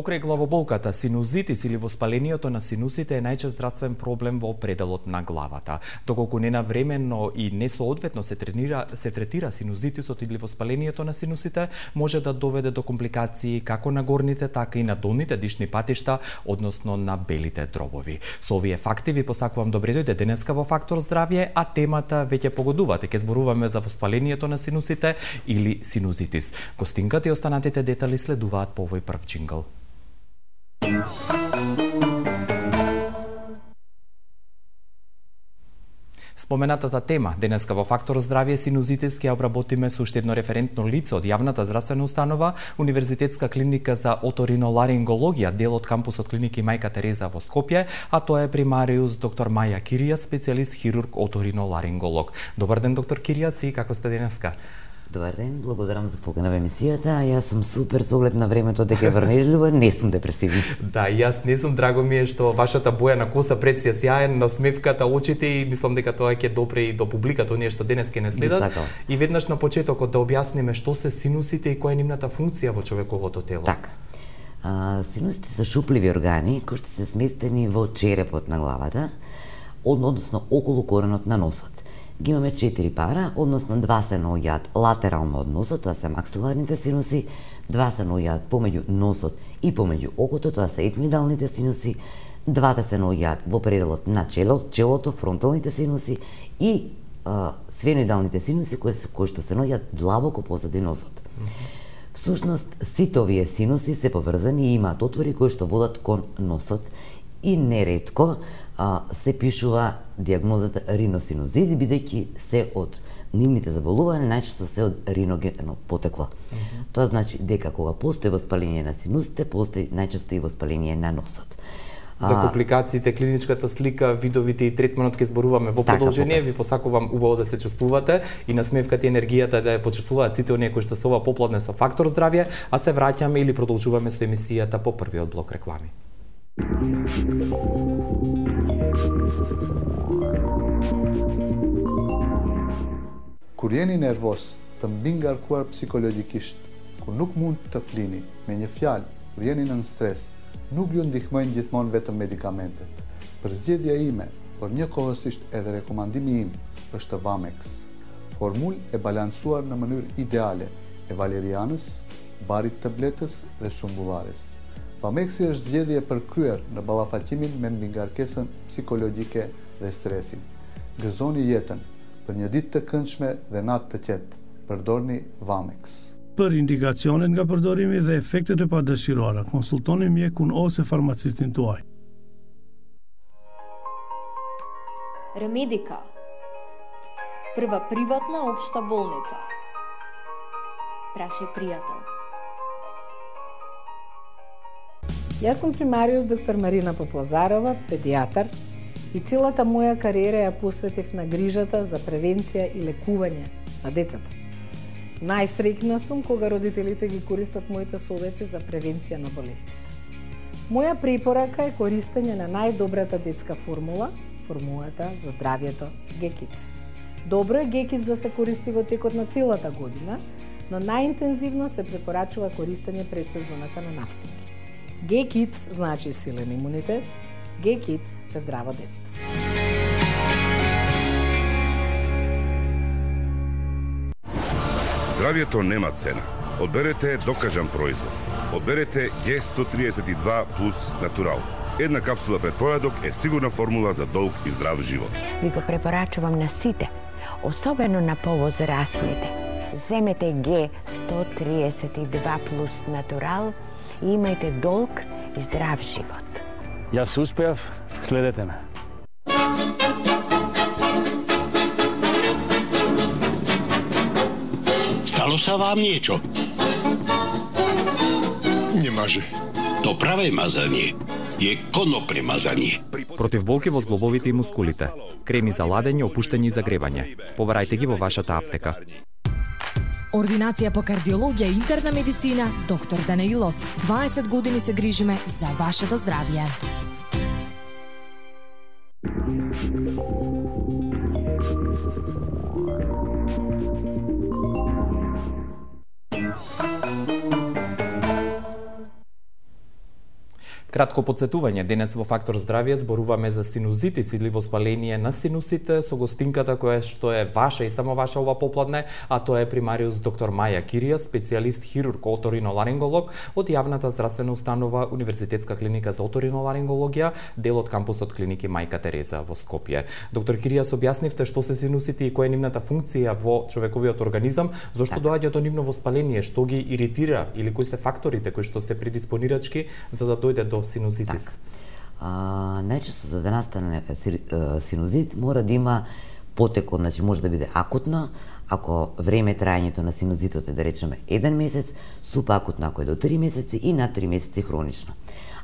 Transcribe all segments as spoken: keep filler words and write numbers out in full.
Покрај главоболката, синузитис или воспалението на синусите е најчест здравствен проблем во пределот на главата. Доколку ненавремено и несоодветно се тренира, се третира синузитисот или воспалението на синусите, може да доведе до компликации како на горните, така и на долните дишни патишта, односно на белите дробови. Со овие факти ви посакувам добре дојде денеска во Фактор здравје, а темата веќе погодувате. Ке зборуваме за воспалението на синусите или синузитис. Гостинката и останатите детали следуваат по овој прв джингл. Споменатата тема денеска во Фактор здравје синузитис ќе обработиме со уште едно референтно лице од јавната здравствена установа, Универзитетска клиника за оториноларингологија, дел од кампусот клиники Мајка Тереза во Скопје, а тоа е примариус доктор Маја Киријас, специјалист хирург оториноларинголог. Добар ден, доктор Киријас, и како сте денеска? Добар ден, благодарам за покана во емисијата. Јас сум супер со оглед на времето дека е врнежливо, не сум депресивна. Да, и јас не сум, драго ми е што вашата боја на коса пред си е сјаен, насмевката, очите, и мислам дека тоа ќе допре и до публиката, оние што денес ќе не следат. И веднаш на почетокот да објасниме што се синусите и која е нивната функција во човековото тело. Така. А, синусите се шупливи органи кои што се сместени во черепот на главата, односно околу коренот на носот. Ги имаме четири пара, односно два се наоѓаат латерално од носот, тоа се максиларните синуси, два се наоѓаат помеѓу носот и помеѓу окото, тоа се етмидалните синуси, двата се наоѓаат во пределот на чело, челото, фронталните синуси и а, сфеноидалните синуси кои, кои што се наоѓаат длабоко позади носот. Всушност, сите овие синуси се поврзани и имаат отвори кои што водат кон носот и неретко а, се пишува диагнозата риносинузит, бидејќи се од нивните заболувања најчесто се од риногено потекло. Mm -hmm. Тоа значи дека кога постои воспаление на синусите, постои најчесто и воспаление на носот. За компликациите, клиничката слика, видовите и третманот ќе зборуваме во продолжение. Така, ви посакувам убаво да се чувствувате и насмевката и енергијата да ја почувствуваат сите оние кои што се ова попладне со Фактор здравје, а се враќаме или продолжуваме со емисијата по првиот блок реклами. Kur jeni nervos, të mbi ngarkuar psikologjikisht, kur nuk mund të flini, me një fjalë, kur jeni nën stres, nuk ju ndihmojnë gjithmonë vetëm medikamentet. Përzgjedhja ime, por njëkohësisht edhe rekomandimi im, është Vamex. Formulë e balancuar në mënyrë ideale e valerianës, barit të bletës dhe sumbullares. Vamexi është zgjedhje e përkryer në ballafaqqimin me mbingarkesën psikologjike dhe stresin. Gëzoni jetën për një ditë të këndshme dhe natë të qetë. Përdorni Vamex. Për indikacionet nga përdorimi dhe efektet e padëshiruara, konsultoni mjekun ose farmacistin tuaj. Ремедика. Прва приватна општа болница. Прашај пријател. Јас сум примариус доктор Марина Поплазарова, педијатар, и целата моја кариера ја посветив на грижата за превенција и лекување на децата. Најсреќна сум кога родителите ги користат моите совети за превенција на болестите. Моја препорака е користење на најдобрата детска формула, формулата за здравјето Г-Kids. Добро е Г-Kids да се користи во текот на целата година, но најинтензивно се препорачува користење пред сезоната на настинки. Г-Kids значи силен имунитет, Г-Kids е здраво детство. Здравјето нема цена. Одберете докажан производ. Одберете Г сто триесет и два плюс Натурал. Една капсула пред појадок е сигурна формула за долг и здрав живот. Ви го препорачувам на сите, особено на повозрастните. Земете Г сто триесет и два плюс Натурал и имајте долг и здрав живот. Јас успеав, следете ме. Стало са вам niečo? Немаже. То праве мазање е конопне мазање. Против болки во зглобовите и мускулите. Креми за ладење, опуштање и загребање. Побарајте ги во вашата аптека. Ординација по кардиологија и интерна медицина, доктор Данаилов. дваесет години се грижиме за вашето здравје. Кратко подсетување, денес во Фактор здравје зборуваме за синузитис или воспаление на синусите со гостинката која што е ваша и само ваша ова попладне, а тоа е примариус доктор Маја Кирија, специјалист хирург оториноларинголог од јавната здравствена установа Универзитетска клиника за оториноларингологија, дел од кампусот клиники Мајка Тереза во Скопје. Доктор Кирија, објаснивте што се синусите и која е нивната функција во човековиот организам, зошто доаѓа до нивно воспаление, што ги иритира или кои се факторите кои што се предиспонирачки за да дојде до синузитис? Так. А, најчесто за да настане синузит мора да има потекот, значи може да биде акутно, ако време траењето на синузитот е да речеме еден месец, супакутно ако е до три месеци и над три месеци хронично.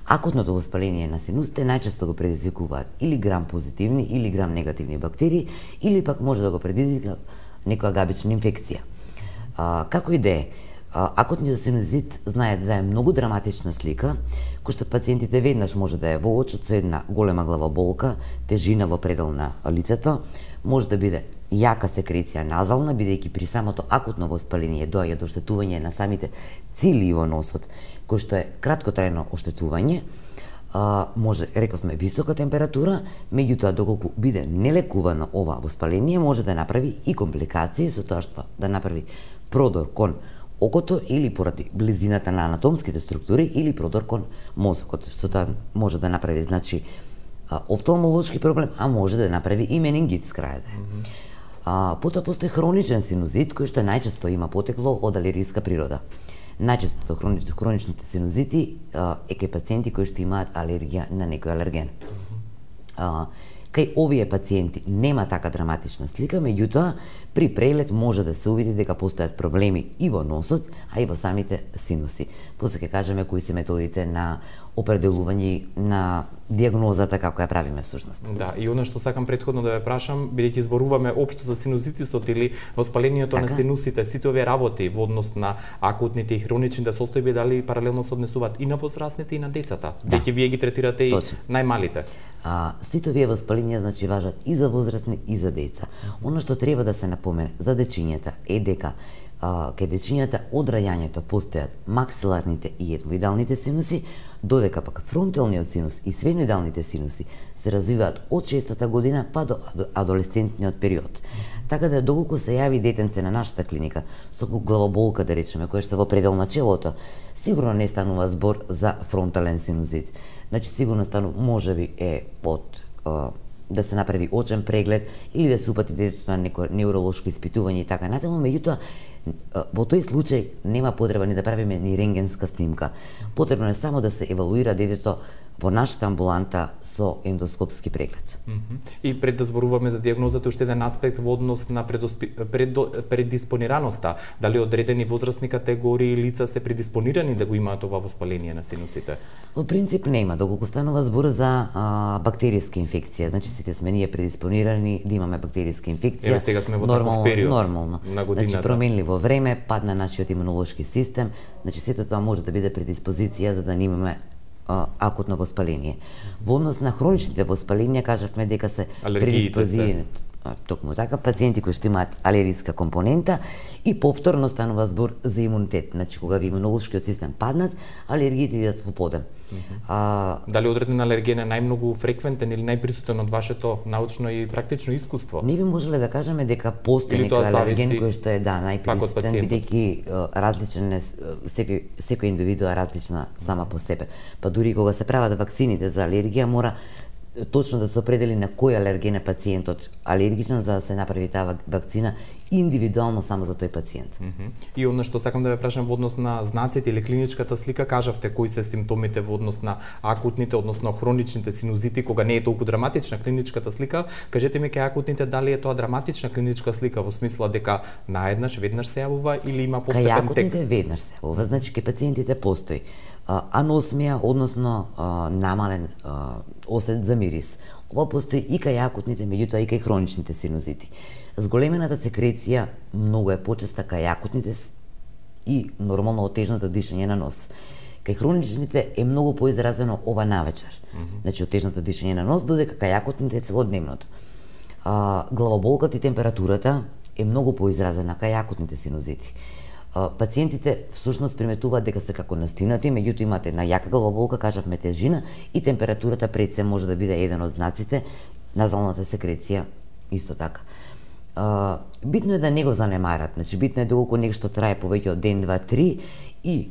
Акутното воспаление на синусите најчесто го предизвикуваат или грам позитивни или грам негативни бактерии, или пак може да го предизвика некоја габична инфекција. А, како и да е, акутниот синузит знаете да е многу драматична слика, кој што пациентите веднаш може да е во очот со една голема главоболка, тежина во предел на лицето, може да биде јака секреција назална, бидејќи при самото акутно воспаление доаѓа до оштетување на самите цили во носот, кој што е краткотрајно оштетување, а, може, рековме, висока температура, меѓутоа доколку биде нелекувано ова воспаление, може да направи и компликации со тоа што да направи продор кон окото или поради близината на анатомските структури или продор кон мозокот, што тоа може да направи, значи, офталмолошки проблем, а може да направи и менингит с крајде. Mm -hmm. а, потоа постои хроничен синузит, кој што најчесто има потекло од алергиска природа. Најчесто хронич, хроничните синузити а, е кај пациенти кои што имаат алергија на некој алерген. Mm -hmm. а, Кај овие пациенти нема така драматична слика, меѓутоа при прелет може да се увиди дека постојат проблеми и во носот, а и во самите синуси. После ќе кажеме кои се методите на определување на дијагнозата како ја правиме всушност. Да, и она што сакам претходно да ве прашам, бидејќи зборуваме општо за синузитисот или воспалението така на синусите, сите овие работи во однос на акутните и хроничните состојби, дали паралелно се однесуваат и на возрастните и на децата? Да. Бидејќи вие ги третирате и најмалите. А, сите овие воспаленија значи важат и за возрастни и за деца. Оно што треба да се напомене за дечињата е дека а, кај дечињата од раѓањето постојат максиларните и етмоидалните синуси, додека пак фронталниот синус и сфеноидалните синуси се развиваат од шестата година па до адолесцентниот период. Така да доколку се јави детенце на нашата клиника со главоболка, да речеме, која што во предел на челото, сигурно не станува збор за фронтален синузит. Значи сигурно станува, можеби е од а, да се направи очен преглед или да се упати детето на некој невролошко испитување и така натаму, меѓутоа во тој случај нема потреба ни да правиме ни рентгенска снимка. Потребно е само да се евалуира детето во нашата амбуланта со ендоскопски преглед. Mm -hmm. И пред да зборуваме за дијагнозата, уште еден аспект во однос на предоспи... предо... предиспонираноста, дали одредени возрастни категории лица се предиспонирани да го имаат ова воспаление на синусите? Во принцип нема, доколку станува збор за а, бактериска инфекција, значи сите сме ние предиспонирани да имаме бактериска инфекција. Еве сега сме во таков период нормално. На годината. Значи променливо време, пад на нашиот имунолошки систем, значи сето тоа може да биде предиспозиција за да не имаме акутно воспаление. Во однос на хроничните воспаленија кажавме дека се предиспозирани токму така пациенти кои што имаат алергиска компонента и повторно станува збор за имунитет. Значи кога ви имунолошкиот систем паднат, алергиите идат во подем. Mm -hmm. а, Дали одреден алерген е најмногу фреквентен или најприсутен од вашето научно и практично искуство? Не би можеле да кажеме дека постои некој алерген кој што е да најприсутен, бидејќи различен е секој секој индивидуа различна сама по себе. Па дури кога се прават вакцините за алергија мора точно да се определи на кој алерген е пациентот алергичен за да се направи таа вакцина индивидуално само за тој пациент. Mm -hmm. И она што сакам да ве прашам во однос на знаците или клиничката слика, кажавте кои се симптомите во однос на акутните, односно хроничните синузити, кога не е толку драматична клиничката слика, кажете ми кај акутните дали е тоа драматична клиничка слика во смисла дека наеднаш веднаш се јавува или има постепен тек? Кај акутните веднаш се јавува, значи кај пациентите постои аносмија, односно а, намален а, осет за мирис. Ова постои и кај акутните, меѓутоа и кај хроничните синузити. Зголемената секреција многу е почеста кај акутните и нормално отежното дишање на нос. Кај хроничните е многу поизразено ова навечер. Mm -hmm. Значи отежното дишање на нос, додека кај акутните е целодневното. А, главоболката и температурата е многу поизразена кај акутните синузити. пациентите всушност приметуваат дека се како настинати, меѓутоа имаат една јака главоболка, кажавме тежина и температурата пред се може да биде еден од знаците, назалната секреција исто така. Uh, битно е да не го занемарат, значи битно е доколку нешто трае повеќе од ден, два, три и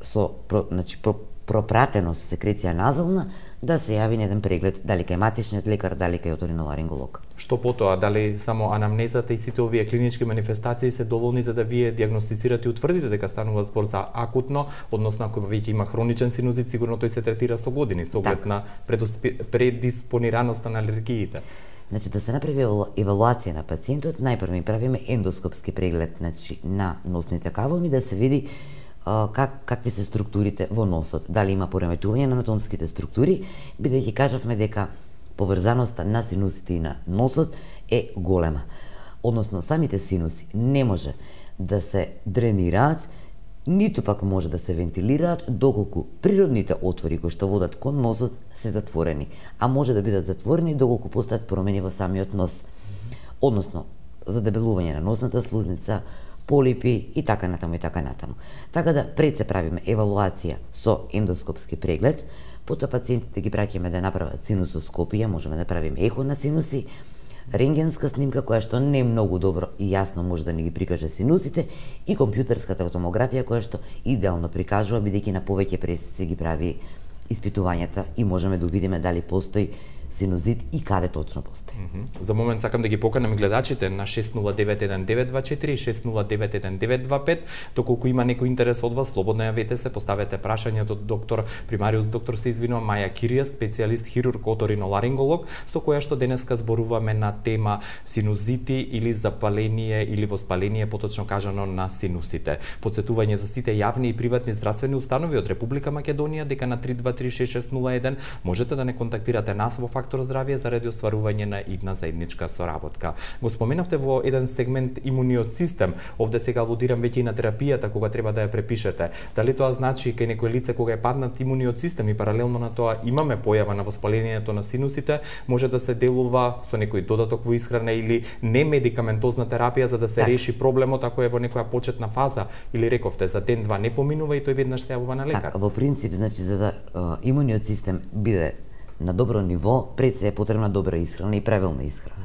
со про, значи, про, пропратено со секреција назална, да се јави на еден преглед, дали кај матичниот лекар, дали кај оториноларинголог. Што потоа, дали само анамнезата и сите овие клинички манифестации се доволни за да вие диагностицирате и утврдите дека станува збор за акутно, односно ако веќе има хроничен синузит, сигурно тој се третира со години, со оглед на предиспонираноста на алергиите. Значи да се направи евалуација на пациентот, најпрво ми правиме ендоскопски преглед, значи на носните кавоми да се види а, как какви се структурите во носот, дали има пореметување на анатомските структури, бидејќи кажавме дека поврзаноста на синусите и на носот е голема. Односно самите синуси не може да се дренираат, ниту пак може да се вентилираат доколку природните отвори кои што водат кон носот се затворени, а може да бидат затворени доколку постојат промени во самиот нос. Односно, задебелување на носната слузница, полипи и така натаму и така натаму. Така да пред се правиме евалуација со ендоскопски преглед, потоа пациентите ги праќаме да направат синусоскопија, можеме да правиме ехо на синуси, рентгенска снимка која што не е многу добро и јасно може да ни ги прикаже синусите и компјутерската томографија која што идеално прикажува бидејќи на повеќе пресици ги прави испитувањата и можеме да увидиме дали постои синузит и каде точно постои. Mm -hmm. За момент сакам да ги поканам гледачите на шест нула девет еден девет два четири и шест нула девет еден девет два пет. Доколку има некој интерес од вас, слободно јавете се, поставете прашањето од доктор примариус доктор се извинува Маја Кирија, специјалист хирург оториноларинголог, со која што денеска зборуваме на тема синузити или запаление или воспаление, поточно кажано на синусите. Подсетување за сите јавни и приватни здравствени установи од Република Македонија дека на три два три шест шест нула еден можете да не контактирате нас во Фактор здравје заради остварување на идна заедничка соработка. Го споменавте во еден сегмент имуниот систем, овде сега алудирам веќе и на терапијата кога треба да ја препишете. Дали тоа значи кај некој лице кога е паднат имуниот систем и паралелно на тоа имаме појава на воспалението на синусите, може да се делува со некој додаток во исхрана или не медикаментозна терапија за да се так. реши проблемот ако е во некоја почетна фаза или рековте за ден два не поминува и тој веднаш се јавува на лекар. Так, во принцип значи за да uh, имуниот систем биде на добро ниво, пред се е потребна добра исхрана и правилна исхрана.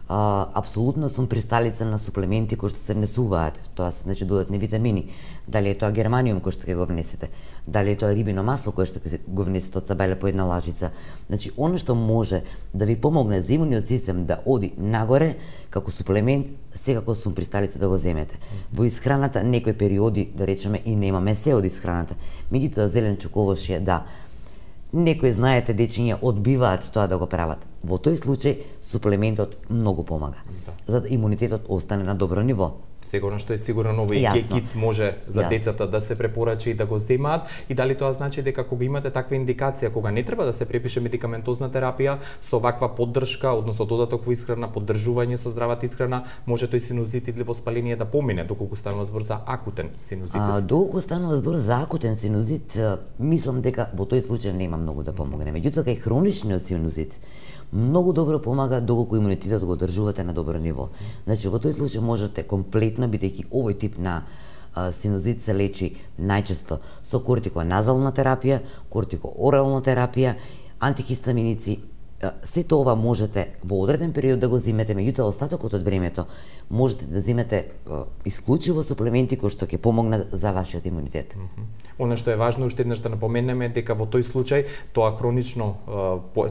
А, апсолутно сум присталица на суплементи кои што се внесуваат, тоа се значи додатни витамини, дали е тоа германиум кој што ќе го внесете, дали е тоа рибино масло кое што ќе го внесете од сабеле по една лажица. Значи, оно што може да ви помогне за имуниот систем да оди нагоре, како суплемент, секако сум присталица да го земете. Во исхраната, некои периоди, да речеме, и немаме се од исхраната. Меѓутоа, зеленчук, овошје, да. Некои, знаете, дечиња одбиваат тоа да го прават. Во тој случај, суплементот многу помага, да. За да имунитетот остане на добро ниво. Сигурно што е сигурно овој гекиц може за Јасно. Децата да се препорача и да го земаат и дали тоа значи дека кога имате таква индикација, кога не треба да се препише медикаментозна терапија, со ваква поддршка, односно додаток во исхрана, поддржување со здравата исхрана, може тој синузит или воспаление да помине доколку станува збор за акутен синузит. А, доколку станува збор за акутен синузит, мислам дека во тој случај нема многу да помогне. Меѓутоа кај хроничниот синузит многу добро помага доколку имунитетот го одржувате на добро ниво. Значи во тој случај можете комплетно, бидејќи овој тип на а, синузит се лечи најчесто со кортиконазална терапија, кортикоорална терапија, антихистаминици. Сето ова можете во одреден период да го зимете, меѓутоа остатокот од времето можете да зимете исклучиво суплементи кои што ќе помогнат за вашиот имунитет. Mm -hmm. Оно што е важно уште еднаш да напоменеме дека во тој случај тоа хронично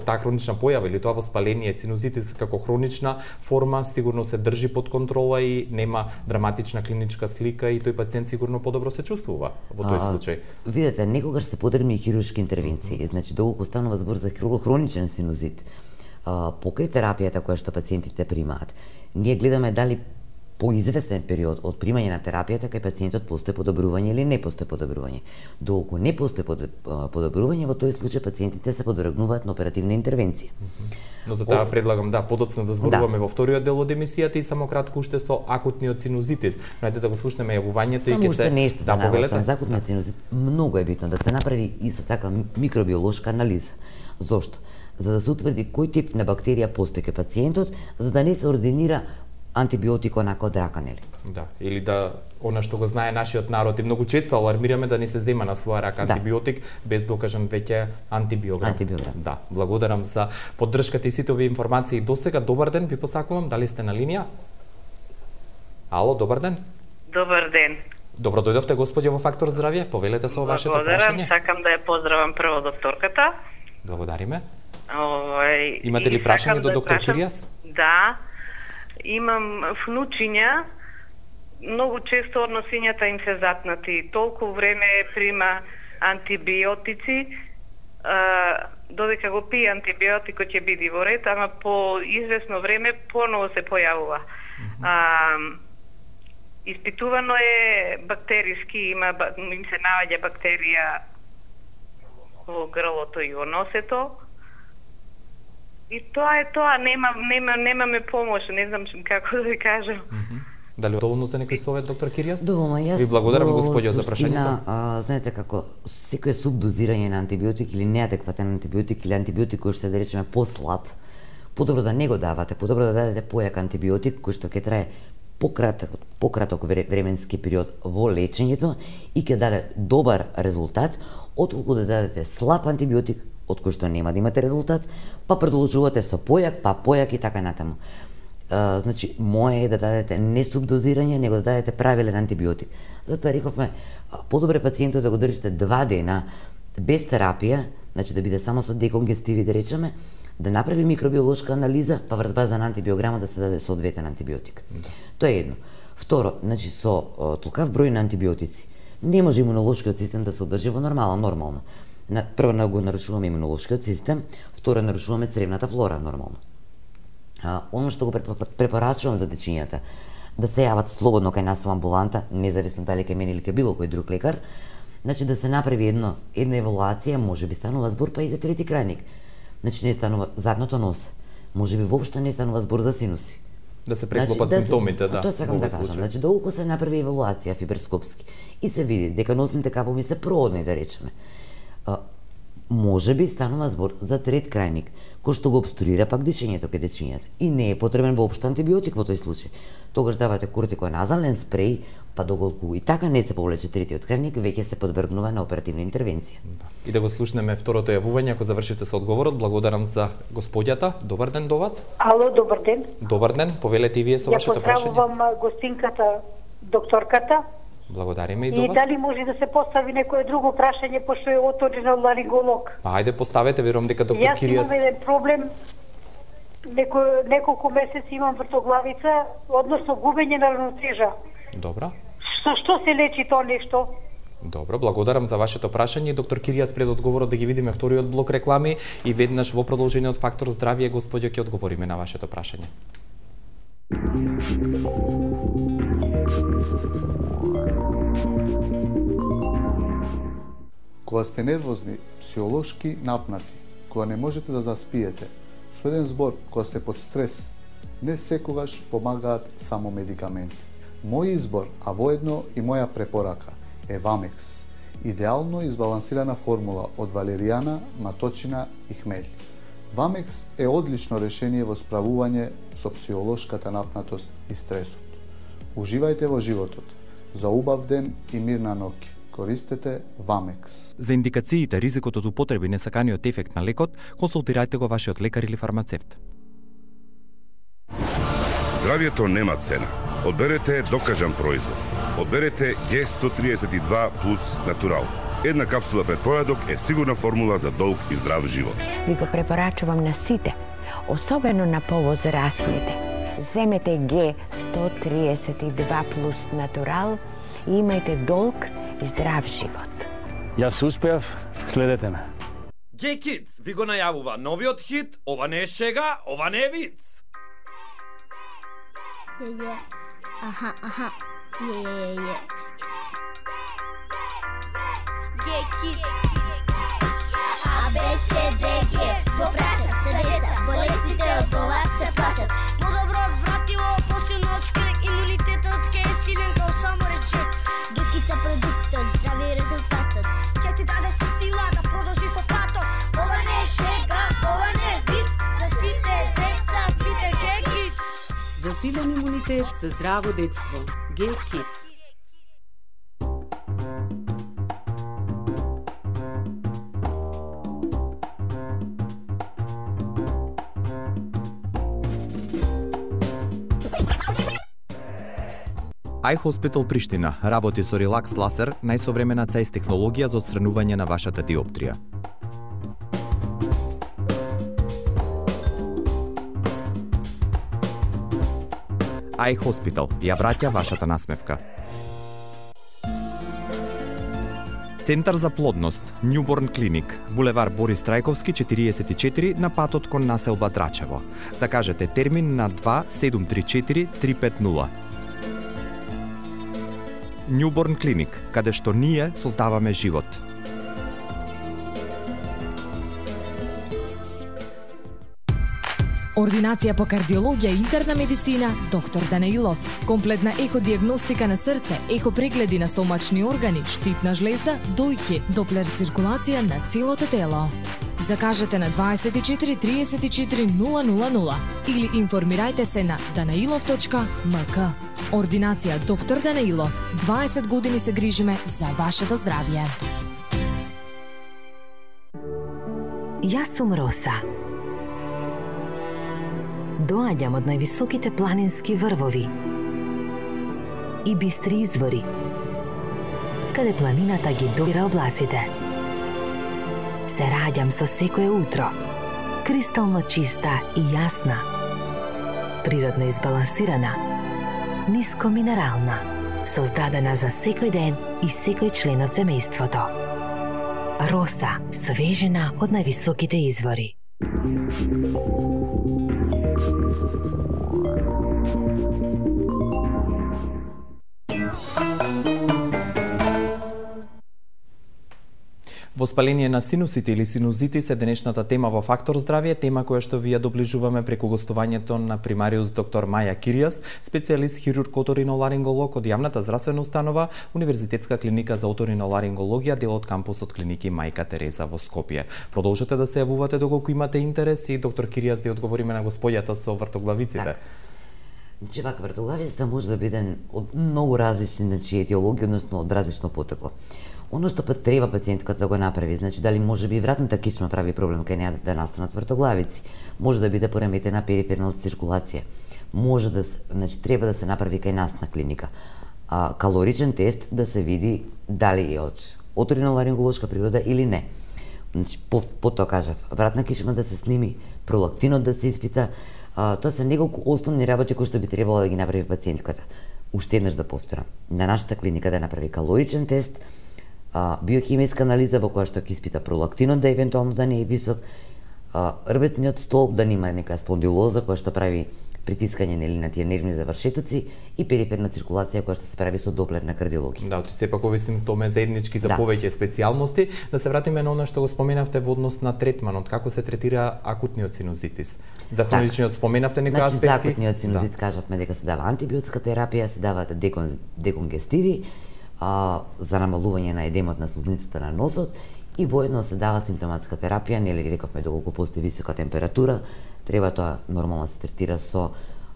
таа хронична појава или тоа воспаление синузитис како хронична форма сигурно се држи под контрола и нема драматична клиничка слика и тој пациент сигурно подобро се чувствува во тој случај. А, видете, некогаш се потребни и хируршки интервенции. Mm -hmm. Значи доколку станува збор за хроничен синузит, покрај терапијата која што пациентите примаат, ние гледаме дали по известен период од примање на терапијата кај пациентот постои подобрување или не постои подобрување. Доколку не постои подобрување, во тој случај пациентите се подвргнуваат на оперативна интервенција. Но за таа предлагам да подоцна да зборуваме да. Во вториот дел од емисијата и само кратко уште со акутниот синузитис. Најде да го слушнеме јавувањето и ќе се нешто да повелете. За акутниот синузит многу е битно да се направи исто така микробиолошка анализа. Зошто? За да се утврди кој тип на бактерија постои кај пациентот, за да не се ординира антибиотик онака од рака, нели? Да, или да она што го знае нашиот народ и многу често алармираме да не се зема на своја рака антибиотик да. без докажан веќе антибиограм. Антибиограм. Да, благодарам за поддршката и сите овие информации досега. Добар ден, ви посакувам. Дали сте на линија? Ало, добар ден. Добар ден. Добро дојдовте, господи, во Фактор здравје. Повелете со вашето прашање. Благодарам, сакам да ја поздравам прво докторката. Благодариме. Овај, имате ли прашање до доктор прашам... Киријас? Да. Имам внучиња, многу често односињата им се затнати. Толку време прима антибиотици, а, додека го пие антибиотикот ќе биде во ред, ама по извесно време поново се појавува. Mm-hmm. А, испитувано е бактериски, има, им се наоѓа бактерија во грлото и во носето. И тоа е тоа, нема, нема, немаме помош, не знам како да ви кажам. Mm-hmm. Дали доволно за некој совет, доктор Киријас? Доволно, јас. Ви благодарам, господјо, за прашањето. А, знаете како, секој субдозирање на антибиотик или неадекватен антибиотик или антибиотик кој што е, да речеме, послаб, подобро да не го давате, подобро да дадете појак антибиотик кој што ќе трае пократок, пократок временски период во лечењето и ќе даде добар резултат, отколку да дадете слаб антибиотик од кој што нема да имате резултат, па продолжувате со појак, па појак и така натаму. Uh, значи, моје е да дадете не субдозирање, него да дадете правилен антибиотик. Затоа рековме, подобре пациентот да го држите два дена без терапија, значи да биде само со деконгестиви, да речеме, да направи микробиолошка анализа, па врз база на антибиограмот да се даде соодветен антибиотик. Да. Тоа е едно. Второ, значи со uh, толкав број на антибиотици, не може имунолошкиот систем да се одржи во нормално, нормално. На, прво на го нарушуваме имунолошкиот систем, второ нарушуваме цревната флора нормално. А, оно што го препорачувам за дечињата, да се јават слободно кај нас во амбуланта, независно дали кај мене или кај било кој друг лекар, значи да се направи едно, една евалуација, може би станува збор па и за трети крајник. Значи не станува задното нос, може би воопшто не станува збор за синуси. Да се преклопат значи, симптомите, да. Тоа сакам да кажам, значи доколку се направи евалуација фиберскопски и се види дека носните кавоми се проодни, да речеме, а, може би станува збор за трет крајник, кој што го обструира пак дишењето кај дечињата. И не е потребен воопшто антибиотик во тој случај. Тогаш давате кортиконазален спреј, па доколку и така не се повлече третиот крајник, веќе се подвргнува на оперативна интервенција. Да. И да го слушнеме второто јавување, ако завршите со одговорот. Благодарам за господјата. Добар ден до вас. Ало, добар ден. Добар ден, повелете и вие со вашето прашање. Ја поздравувам гостинката, докторката. Благодариме и до вас. И дали може да се постави некое друго прашање, пошто е оториноларинголог? Ајде, поставете, верувам дека доктор Јас Киријас... Јас имам еден проблем, Неко, неколку месеци имам вртоглавица, односно губење на равнотежа. Добро. Што, што се лечи тоа нешто? Добро, благодарам за вашето прашање. Доктор Киријас, пред одговорот да ги видиме вториот блок реклами и веднаш во продолжение од Фактор здравје, господјо, ќе одговориме на вашето прашање. Кога сте нервозни, психолошки напнати, кога не можете да заспиете, со еден збор, кога сте под стрес, не секогаш помагаат само медикаменти. Мој избор, а воедно и моја препорака, е Вамекс. Идеално избалансирана формула од валеријана, маточина и хмелј. Вамекс е одлично решение во справување со психолошката напнатост и стресот. Уживајте во животот. За убав ден и мирна ноќ. Користете Вамекс. За индикациите, ризикот од употреби, несаканиот ефект на лекот, консултирајте го вашиот лекар или фармацевт. Здравјето нема цена. Одберете докажан производ. Одберете Г сто триесет и два плюс Натурал. Една капсула пред појадок е сигурна формула за долг и здрав живот. Ви го препорачувам на сите, особено на повозрастните. Земете Г сто триесет и два плюс Натурал и имајте долг и здрав живот. Јас успеав, следете ме. Gay Kids ви го најавува новиот хит, ова не е шега, ова не е виц. Е, е. Аха, аха. Е, е, е. Gay Kids. А, Б, С, Д, Г. Го прашат се деца, болестите од ова се плашат. Подобро вратило, посилно од шкрек, имунитетот ке е силен као само речет. Гекица продуктот, здрави резултатот. Ќе ти даде сила да продолжи по патот. Ова не е шега, ова не е виц. За сите деца пите Gay Kids. За сите Силен имунитет за здраво детство. G-Kids. iHospital Приштина работи со релакс ласер, најсовремена цајс технологија за отстранување на вашата диоптрија. iHospital ја враќа вашата насмевка. Центар за плодност, Newborn Clinic, булевар Борис Трајковски четириесет и четири на патот кон населба Драчево. Закажете термин на два седум три четири три пет нула. Newborn Clinic, каде што ние создаваме живот. Ординација по кардиологија и интерна медицина, доктор Данаилов. Комплетна еходиагностика на срце, ехопрегледи на стомачни органи, штитна жлезда, дојки, доплер циркулација на целото тело. Закажете на дваесет и четири триесет и четири нула нула нула или информирајте се на данаилов точка ем ка. Ординација доктор Данаилов. дваесет години се грижиме за вашето здравје. Јас сум Роса. Доаѓам од највисоките планински врвови и бистри извори, каде планината ги допира облаците. Се раѓам со секое утро, кристално чиста и јасна, природно избалансирана, ниско минерална, создадена за секој ден и секој член од семејството. Роса, свежена од највисоките извори. Воспаление на синусите или синузитис е денешната тема во Фактор здравје, тема која што ви ја доближуваме преку гостувањето на примариус доктор Маја Киријас, специјалист хирург оториноларинголог од јавната здравствена установа Универзитетска клиника за оториноларингологија, дел од кампусот клиники Мајка Тереза во Скопје. Продолжете да се јавувате доколку имате интерес и доктор Киријас да одговориме на господјата со вртоглавиците. Так. Значи, вака вртоглавицата може да биде од многу различни, значи, етиологии, односно од различно потекло. Оно што пат треба пациентката да го направи, значи дали може би вратната кичма прави проблем кај неа да настанат вртоглавици, може да биде пореметена перифернална циркулација, може да, значи треба да се направи кај нас на клиника а, калоричен тест да се види дали е од оториноларинголошка природа или не. Значи по, потоа кажав, вратна кичма да се сними, пролактинот да се испита, а, тоа се неколку основни работи кои што би требало да ги направи пациентката. Уште еднаш да повторам, на нашата клиника да направи калоричен тест, биохимиска анализа во која што ќе испита пролактинот да евентуално да не е висок, рбетниот столб да нема нека спондилоза која што прави притискање нели на тие нервни завршетоци и периферна циркулација која што се прави со доплер на кардиологија. Да, оти сепак овие симптоми заеднички за да. повеќе специјалности. Да се вратиме на она што го споменавте во однос на третманот, како се третира акутниот синузитис. За хроничниот так. Споменавте некои значи, аспекти. За акутниот синузит да. Кажавме дека се дава антибиотска терапија, се даваат декон, деконгестиви, а, за намалување на едемот на слузницата на носот и воедно се дава симптоматска терапија, нели рековме доколку постои висока температура, треба тоа нормално се третира со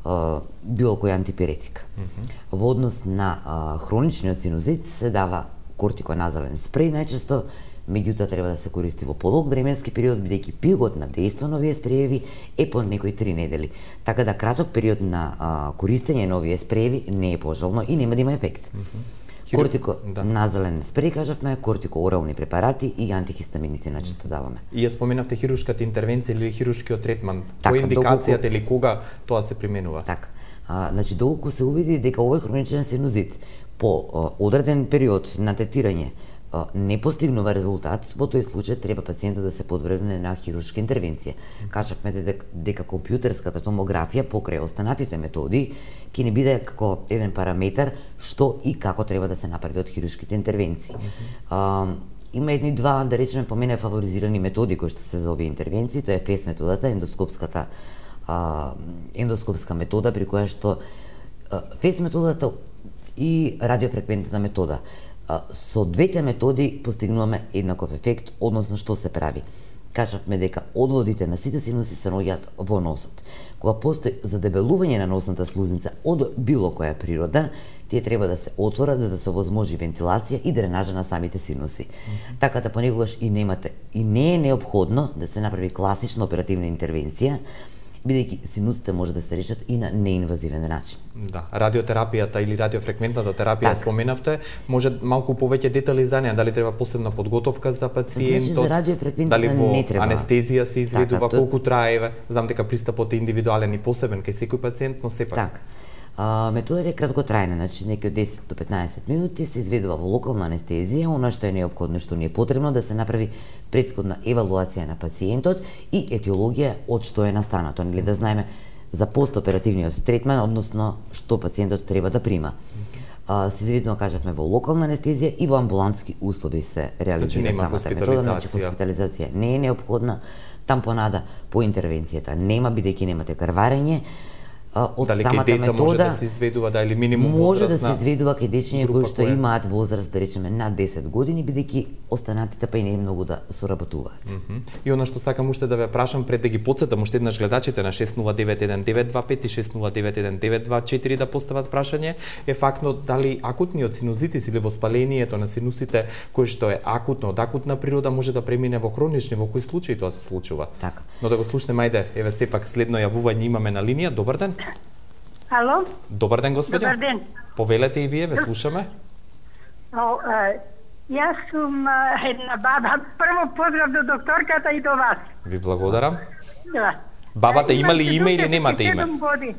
а, било кој антипиретик. Mm -hmm. Во однос на а, хроничниот синузит се дава кортиконазален спреј најчесто, меѓутоа треба да се користи во подолг временски период, бидејќи пигот на дејство на овие спрееви е по некои три недели. Така да краток период на а, користење на овие спрееви не е пожелно и нема да има ефект. Mm -hmm. Кортико да. Назален спреј, кажавме, кортико-орални препарати и антихистаминици најчесто даваме. И ја споменавте хируршката интервенција или хируршкиот третман. Така, која индикацијата долго... или кога тоа се применува? Така. А, значи, доколку се увиди дека овој хроничен синузит по а, одреден период на третирање а, не постигнува резултат, во тој случај треба пациентот да се подвргне на хируршка интервенција. Кажавме дека, дека компјутерската томографија покрај останатите методи ќе не биде како еден параметар што и како треба да се направи од хируршките интервенции. Mm -hmm. а, има едни два, да речеме, по мене фаворизирани методи кои што се за овие интервенции, тоа е еф е ес методата, ендоскопската а, ендоскопска метода при која што а, еф е ес методата и радиофреквентната метода. А, со двете методи постигнуваме еднаков ефект, односно што се прави. кажавме дека одводите на сите синуси се наоѓаат во носот. Кога постои задебелување на носната слузница од било која природа, тие треба да се отворат за да се овозможи вентилација и дренажа на самите синуси. Mm-hmm. Така да понекогаш и немате и не е неопходно да се направи класична оперативна интервенција, бидејќи синусите може да се решат и на неинвазивен начин. Да, радиотерапијата или радиофреквентната терапија так. Споменавте, може малку повеќе детали за неа, дали треба посебна подготовка за пациентот? Значи, за радиофреквентната дали во не треба. Анестезија се изведува, така, колку трае, знам дека пристапот е индивидуален и посебен кај секој пациент, но сепак. Така. А, методата е краткотрајна, значи некои од десет до петнаесет минути се изведува во локална анестезија, она што е неопходно, што ни е потребно да се направи претходна евалуација на пациентот и етиологија од што е настанато, нели да знаеме за постоперативниот третман, односно што пациентот треба да прима. А, се изведува, кажавме, во локална анестезија и во амбулантски услови се реализира значи, самата метода, значи хоспитализација не е неопходна, тампонада по интервенцијата нема, бидејќи немате крварење. Од дали самата деца метода може да се изведува да или минимум може возраст да се изведува кај дечиња кои што која... имаат возраст да речеме над десет години, бидејќи останатите па и не многу да соработуваат. Mm -hmm. И она што сакам уште да ве прашам пред да ги потсетам уште еднаш гледачите на шест нула девет еден девет два пет и шест нула девет еден девет два четири да постават прашање е фактно дали акутниот синузитис или воспалението на синусите кој што е акутно, од акутна природа може да премине во хронични, во кои случаи тоа се случува. Така. Но да го слушнеме, ајде, еве сепак следно јавување имаме на линија. Добар ден. Ало? Добар ден, господја. Добар ден. Повелете и вие, ве слушаме. О, е, јас сум е, една баба. Прво поздрав до докторката и до вас. Ви благодарам. Да. Бабата има ли име или немате име? Години.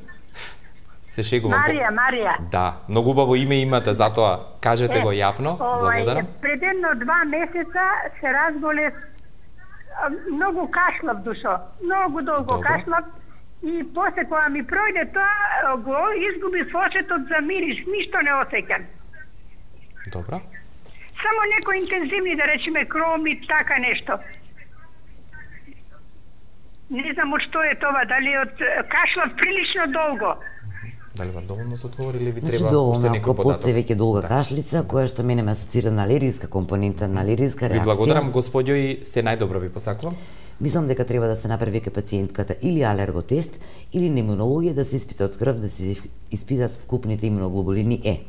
Се шегувам. Марија, Марија. Да, многу убаво име имате, затоа кажете е, го јавно. Благодарам. Пред едно два месеца се разболев, многу кашлав душо. Многу долго Добро. кашлав. И после кога ми пројде тоа, го изгуби сосетот за мирис, ништо не осеќам. Добро. Само некои интензивни, да речеме, кроми, така нешто. Не знам од што е тоа, дали од кашлав прилично долго. Дали вам доволно се одговори или ви значи, треба уште некој податок? Постои веќе долга да. кашлица, која што мене ме асоцира на алергиска компонента, на алергиска реакција. Ви благодарам, господјо, и се најдобро ви посакувам. Мислам дека треба да се направи кај пациентката или алерготест, или на имунологија, да се испита од крв, да се испитат вкупните имуноглобулини Е.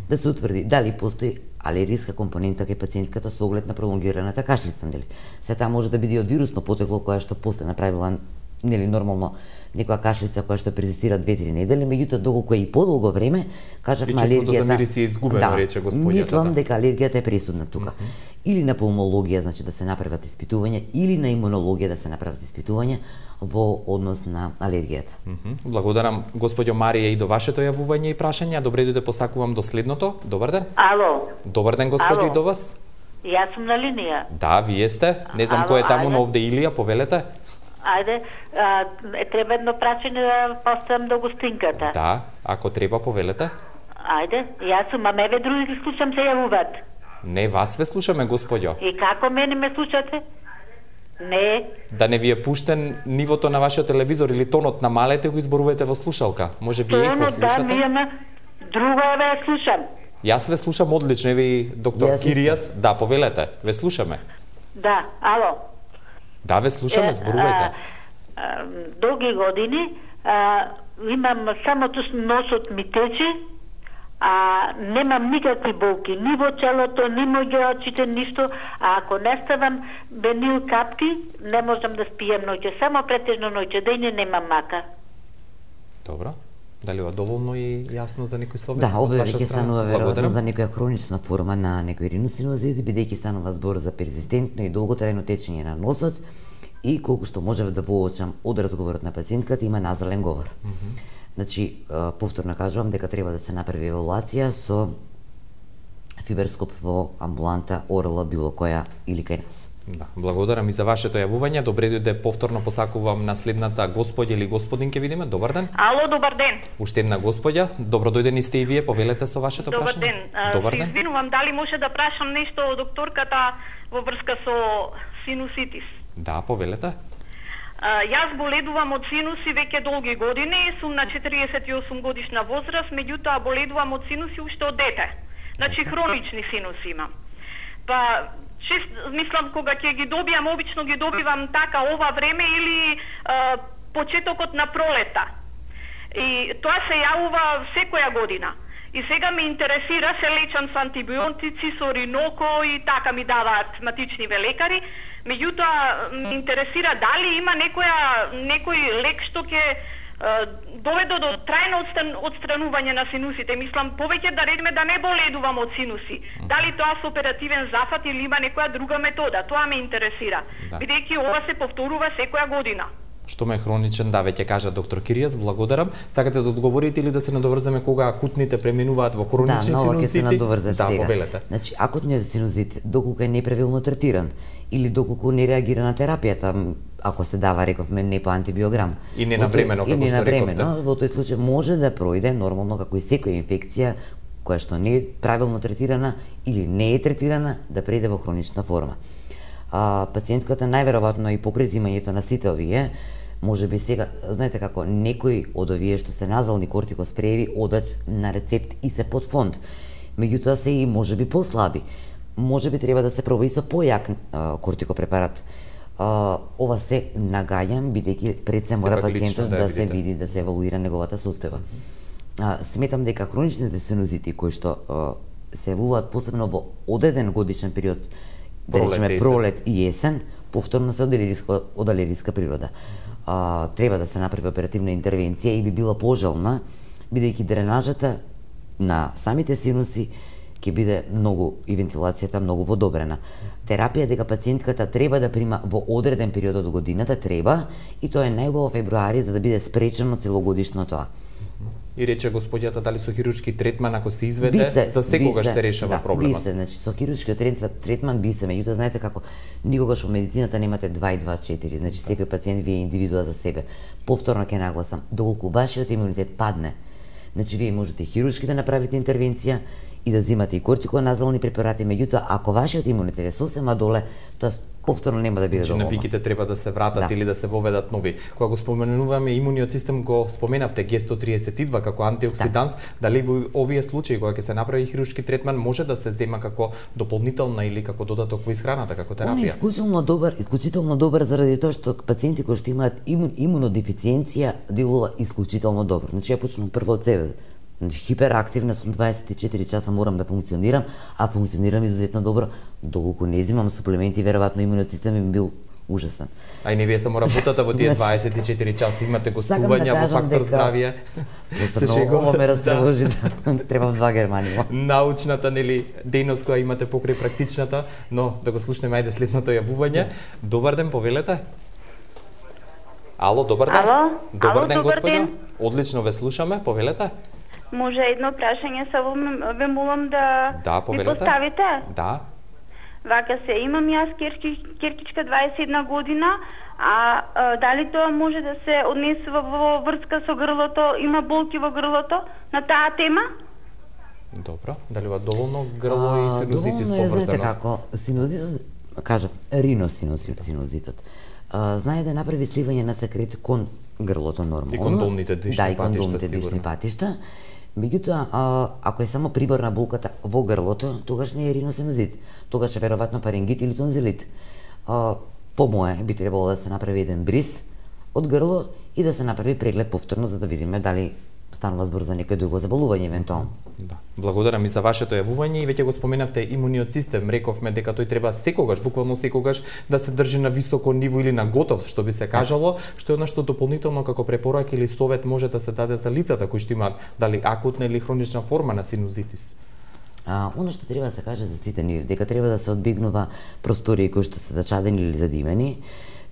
Да се утврди дали постои алергиска компонента кај пациентката со оглед на пролонгираната кашлица, нели? Се таа може да биде од вирусно потекло која што после направила нели нормално некоја кашлица која што перзистира две-три недели, меѓутоа доколку е и подолго време, кажавме алергијата. И чувството за мирис е изгубено, да, рече господјата. Мислам дека алергијата е пресудна тука. Mm -hmm. Или на пулмологија, значи да се направат испитувања, или на имунологија да се направат испитувања во однос на алергијата. Mm -hmm. Благодарам, господјо Марија, и до вашето јавување и прашање. Добре дојде, посакувам до следното. Добар ден. Ало. Добар ден, господјо, Ало. и до вас. Јас сум на линија. Да, вие сте. Не знам кој е таму, но овде Илија, повелете. Ајде, а, е треба едно прашање да поставам до гостинката. Да, ако треба, повелете. Ајде, јас сум, а меве други ги слушам се јавуваат. Не, вас ве слушаме, господјо. И како мене ме слушате? Не. Да не ви е пуштен нивото на вашиот телевизор или тонот на малете, го изборувате во слушалка. Може би ехо слушате? Да, ми ама друго ве слушам. Јас ве слушам одлично, еви доктор yes, Киријас. Да, повелете, ве слушаме. Да, ало. Да, ве слушаме, зборувајте. Долги години а, имам самото носот ми тече, а немам никакви болки, ни во челото, ни во очите, ништо, а ако не ставам бенил капки, не можам да спијам ноќе, само претежно ноќе, да и не немам мака. Добро. Дали ова доволно и јасно за некој совет? Да, ова веќе станува веројатно за некоја хронична форма на некој риносинозит, бидејќи станува збор за перзистентно и долготрајно течење на носот и колку што можев да воочам од разговорот на пациентката, има назален говор. Mm -hmm. Значи, повторно кажувам дека треба да се направи евалуација со фиберскоп во амбуланта Орла било која или кај нас. Да, благодарам и за вашето јавување. Добре дојде, повторно посакувам на следната господја или господин, ке видиме. Добар ден. Ало, добар ден. Уште една господја. Добро дојдени сте и вие, повелете со вашето добар прашање. Ден. Добар се ден. Извинувам, дали може да прашам нешто од докторката во врска со синуситис? Да, повелете. А, јас боледувам од синуси веќе долги години, сум на четириесет и осум годишна возраст, меѓутоа боледувам од синуси уште од дете. Значи хронични синуси имам. Па Шест, мислам, кога ќе ги добијам, обично ги добивам така ова време или а, почетокот на пролета. И тоа се јавува секоја година. И сега ме интересира, се лечам со антибиотици, со риноко и така ми даваат матичниве лекари. Меѓутоа, ме интересира дали има некоја, некој лек што ќе доведе до трајно отстран, отстранување на синусите. Мислам, повеќе да редиме да не боледувам од синуси. Дали тоа со оперативен зафат или има некоја друга метода, тоа ме интересира. Да. Бидејќи ова се повторува секоја година. Што ме хроничен, да, веќе кажа доктор Киријас, благодарам. Сакате да одговорите или да се надоврземе кога акутните преминуваат во хронични да, синусити? Да, ќе се надоврзам да, сега. Повелете. Значи, акутниот синузит, доколку е неправилно третиран или доколку не реагира на терапијата, ако се дава, рековме, не по антибиограм. И не навремено, како што рековте. Во тој случај може да пројде нормално како и секоја инфекција која што не е правилно третирана или не е третирана, да преде во хронична форма. А, пациентката најверојатно и покрај земањето на сите овие, може би сега, знаете како, некои од овие што се назални кортикоспрееви одат на рецепт и се под фонд. Меѓутоа се и може би послаби. Може би треба да се проба и со појак а, кортикопрепарат. А, ова се нагаѓам, бидејќи пред се мора пациентот да, да се види, да се евалуира неговата состојба. А, сметам дека хроничните синузити кои што а, се еволуваат посебно во одреден годишен период, да речеме пролет и есен, повторно се од алергиска, од алергиска природа. А, треба да се направи оперативна интервенција и би била пожелна, бидејќи дренажата на самите синуси ќе биде многу и вентилацијата многу подобрена. Терапија дека пациентката треба да прима во одреден период од годината треба и тоа е најубаво февруари за да биде спречено целогодишно тоа. И рече господјата дали со хируршки третман ако се изведе, се, за секогаш се, се решава да, проблемот. Би се, значи со хируршкиот третман би се, меѓутоа знаете како никогаш во медицината немате два и два четири, значи секој пациент вие е индивидуа за себе. Повторно ќе нагласам, доколку вашиот имунитет падне, значи вие можете хируршки да направите интервенција и да земате и кортиконазални препарати, меѓутоа ако вашиот имунитет е сосема доле, тоа повторно нема да биде значи, доволно. навиките треба да се вратат да. или да се воведат нови. Кога го споменуваме имуниот систем, го споменавте Г сто триесет и два како антиоксиданс, да. дали во овие случаи кога ќе се направи хируршки третман може да се зема како дополнителна или како додаток во исхраната, како терапија? Он е исклучително добар, исклучително добар заради тоа што пациенти кои што имаат имун, имунодефициенција делува исклучително добро. Значи ја почнувам прво од себе. Значи, хиперактивна сум, дваесет и четири часа морам да функционирам, а функционирам изузетно добро. Доколку не земам суплементи, веројатно имуниот систем би бил ужасен. А и не вие само работата во тие дваесет и четири часа, имате гостувања да во Фактор дека... здравје. Се шегуваме растревожи, да. Треба два Германија. Научната, нели, дејност која имате покрај практичната, но да го слушнеме ајде следното јавување. Добар ден, повелете. Ало, добар ден. Ало, добар Ало, ден, добар господја. ден. Одлично ве слушаме, повелете. Може едно прашање само ве молам да, да ми поставите? Да. Вака се, имам јас керки, керкичка дваесет и една година, а, а дали тоа може да се однесува во врска со грлото, има болки во грлото на таа тема? Добро, дали ва доволно грло и синузитис поврзаност? Доволно е, знаете како, синузитот, кажав, риносинузитот. Uh, знае да направи сливање на секрет кон грлото нормално. И кон долните дишни да, и кон патишта, долните дишни патишта. Меѓутоа, uh, ако е само прибор на болката во грлото, тогаш не е риносинузит. Тогаш е веројатно паренгит или тонзилит. Uh, по мое би требало да се направи еден бриз од грло и да се направи преглед повторно за да видиме дали станува збор за некој друго заболување евентуално. Да. Благодарам и за вашето јавување и веќе го споменавте имуниот систем. Рековме дека тој треба секогаш, буквално секогаш да се држи на високо ниво или на готов, што би се кажало, што е нешто дополнително како препорака или совет може да се даде за лицата кои што имаат дали акутна или хронична форма на синузитис. А, оно што треба да се каже за сите нив, дека треба да се одбегнува простории кои што се зачадени или задимени,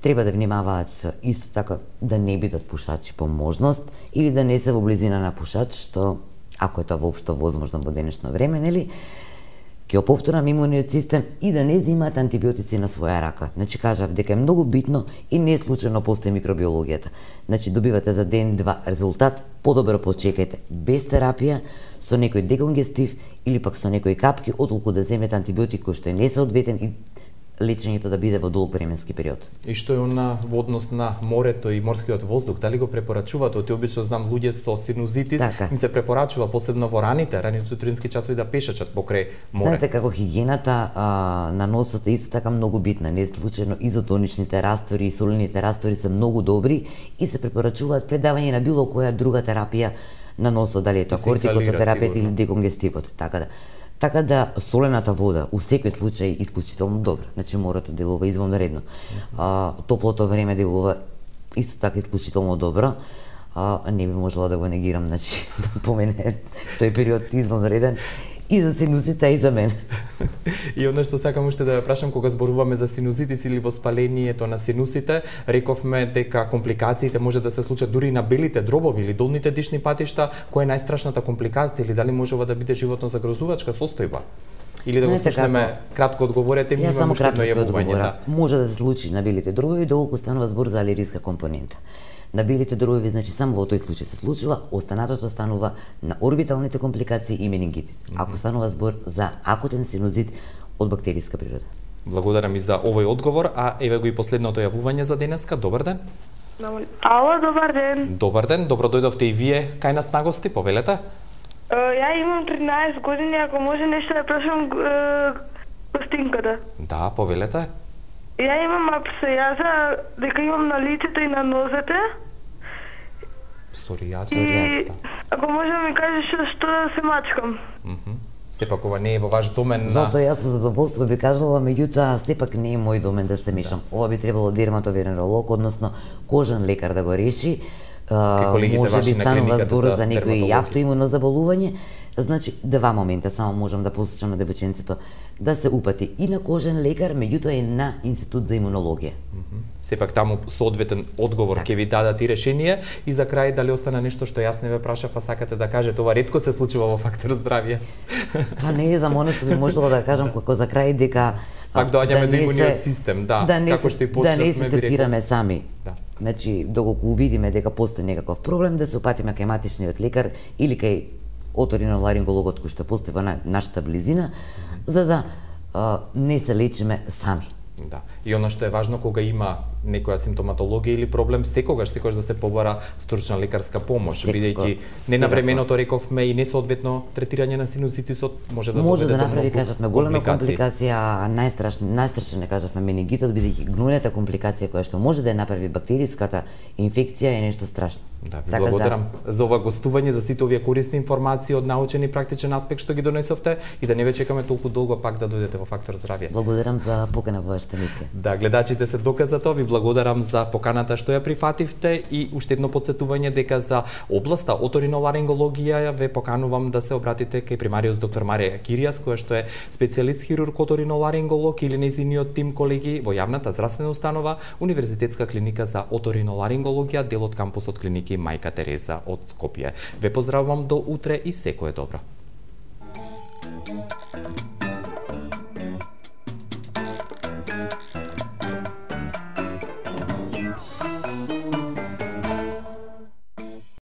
треба да внимаваат исто така да не бидат пушачи по можност или да не се во близина на пушач, што ако е тоа воопшто возможно во денешно време, нели, ќе оповторам имуниот систем и да не земаат антибиотици на своја рака. Значи кажав дека е многу битно и не случајно постои микробиологијата. Значи добивате за ден-два резултат, подобро почекајте без терапија, со некој деконгестив или пак со некои капки, отколку да земете антибиотик кој што е несоодветен и лечењето да биде во долг временски период. И што е она во однос на морето и морскиот воздух, дали го препорачувате? Оти обично знам луѓе со синузитис, така. Им се препорачува посебно во раните, раните утрински часови да пешачат покрај море. Знаете како хигиената а, на носот е исто така многу битна. Не случајно изотоничните раствори и солените раствори се многу добри и се препорачуваат пред давање на било која друга терапија на носот, дали е тоа кортикотерапија или деконгестивот, така да. Така да солената вода у секој случај исклучително добра. Значи морето делува извонредно. А, топлото време делува исто така исклучително добро. А, не би можела да го негирам, значи по мене тој период извонреден и за синузите и за мене. И одно што сакам уште да ја прашам, кога зборуваме за синузитис или воспалението на синусите, рековме дека компликациите може да се случат дури на белите дробови или долните дишни патишта. Која е најстрашната компликација или дали можува да биде животно загрозувачка состојба? Или да го слушнеме кратко одговорете, ми имаме уште едно јавување. Да. Може да се случи на белите дробови, доколку станува збор за алергиска компонента. На белите дробови, значи само во тој случај се случува, останатото станува на орбиталните компликации и менингитит. Mm -hmm. Ако станува збор за акутен синузит од бактериска природа. Благодарам и за овој одговор, а еве го и последното јавување за денеска. Добар ден. Ало, добар ден. Добар ден, добро дојдовте и вие кај нас на гости, повелете. Ја имам тринаесет години, ако може нешто да прашам гостинката. Да, повелете. Ја имам апсориаза, дека имам на лицето и на нозете. Псориаза? И ако може да ми кажеш што да се мачкам. Mm-hmm. Сепак ова не е во ваш домен на... Зато јас со задоволство би кажала, меѓутоа сепак не е мој домен да се мешам. Да. Ова би требало дерматовенеролог, односно кожен лекар да го реши. Uh, може би станува збор за, за некој автоимуно заболување. Значи, два момента само можам да посочам на девојченцето да се упати и на кожен лекар, меѓутоа и на Институт за имунологија. Mm -hmm. Сепак таму соодветен одговор ќе ви дадат и решение. И за крај, дали остана нешто што јас не ве прашав, а сакате да кажете, ова ретко се случува во Фактор здравје? Па не е за оно што би можела да кажам како за крај дека пак доаѓаме до имуниот систем, да, да како што и почнавме, да не се третираме сами. Да. Значи, доколку увидиме дека постои некаков проблем, да се опатиме кај матичниот лекар или кај оториноларингологот кој што постои во нашата близина, mm-hmm. за да а, не се лечиме сами. Да. И оно што е важно кога има некоја симптоматологија или проблем, секогаш секогаш да се побара стручна лекарска помош, бидејќи ненавременото рековме и несоодветно третирање на синузитисот може да може доведе да до направи, многу кажавме, голема компликација, најстрашно, најстрашно не кажавме менингитот, бидејќи гнуната компликација која што може да ја направи бактериската инфекција е нешто страшно. Да, ви така благодарам за... за ова гостување, за сите овие корисни информации од научен и практичен аспект што ги донесовте и да не ве чекаме толку долго пак да дојдете во Фактор здравје. Благодарам за покана во вашата емисија. Да, гледачите се доказ за тоа. Ви благодарам за поканата што ја прифативте и уште едно потсетување дека за областа оториноларингологија ве поканувам да се обратите кај примариус доктор Марија Киријас, која што е специјалист хирург оториноларинголог или нејзиниот тим колеги во јавната здравствена установа Универзитетска клиника за оториноларингологија, дел од кампусот клиники Мајка Тереза од Скопје. Ве поздравувам до утре и секое добро.